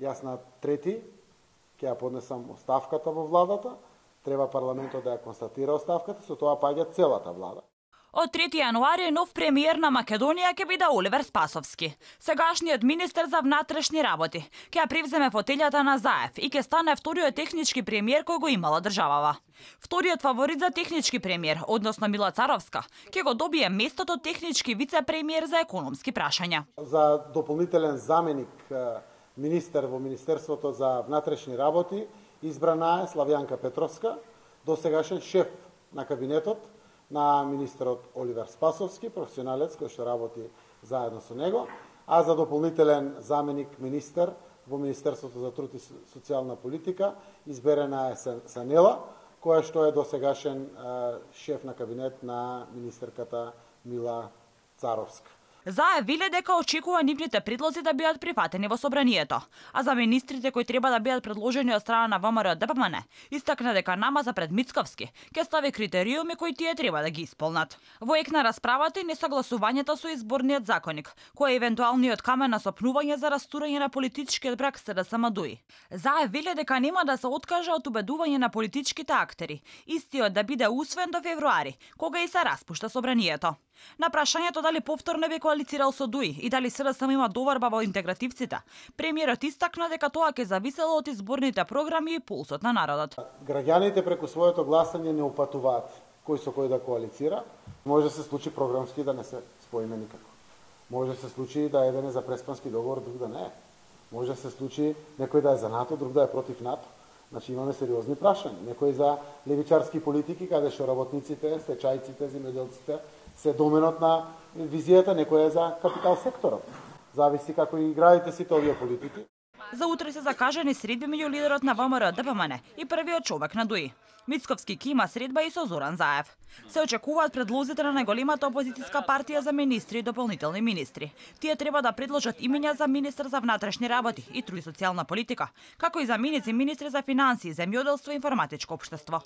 Јас на 3 ќе ја поднесам оставката во владата, треба парламентот да ја констатира оставката, со тоа паѓа целата влада. Од 3 јануари нов премиер на Македонија ќе биде Оливер Спасовски. Сегашниот министер за внатрешни работи ќе ја превземе фотелјата на Заев и ќе стане вториот технички премиер кој го имала државава. Вториот фаворит за технички премиер, односно Мила Царовска, ќе го добие местото технички вице-премиер за економски прашања. За дополнителен заменик министер во Министерството за внатрешни работи избрана е Славјанка Петровска, досегашен шеф на кабинетот на министерот Оливер Спасовски, професионалец кој што работи заедно со него, а за дополнителен заменик министер во Министерството за труд и социјална политика изберена е Санела, која што е досегашен шеф на кабинет на министерката Мила Царовска. Заев веле дека очекува нивните предлози да бидат прифатени во собранието, а за министрите кои треба да бидат предложени од страна на ВМРО ДПМН, истакна дека намаза пред Мицковски ќе стави критериуми кои тие треба да ги исполнат. Во ек на расправата и несогласувањето со изборниот законник, кој е евентуалниот камен на сопнување за растурање на политичкиот брак СДСМ ДУИ. Заев веле дека нема да се откаже од убедување на политичките актери, истиот да биде усвоен до февруари, кога и се распушта собранието. На прашањето дали повторно би коалицирал со ДУИ и дали СДСМ има доварба во интегративците, премиерот истакна дека тоа ќе зависело од изборните програми и пулсот на народот. Граѓаните преку своето гласање не упатуваат кој со кој да коалицира. Може да се случи програмски да не се споиме никако. Може да се случи да еден е за преспански договор, друг да не е. Може да се случи некој да е за НАТО, друг да е против НАТО. Значи имаме сериозни прашања. Некој за левичарски политики, каде што работниците, стечајците, земјоделците се доменот на визијата, некој е за капитал секторот. Зависи како и играите сите овие политики. За утре се закажани средби меѓу лидерот на ВМРО ДПМН и првиот човек на ДУИ. Мицковски ќе има средба и со Зоран Заев. Се очекуваат предлозите на најголемата опозицијска партија за министри и дополнителни министри. Тие треба да предложат имиња за министер за внатрешни работи и труд и социјална политика, како и заменици министри за финансии, земјоделство и информатичко општество.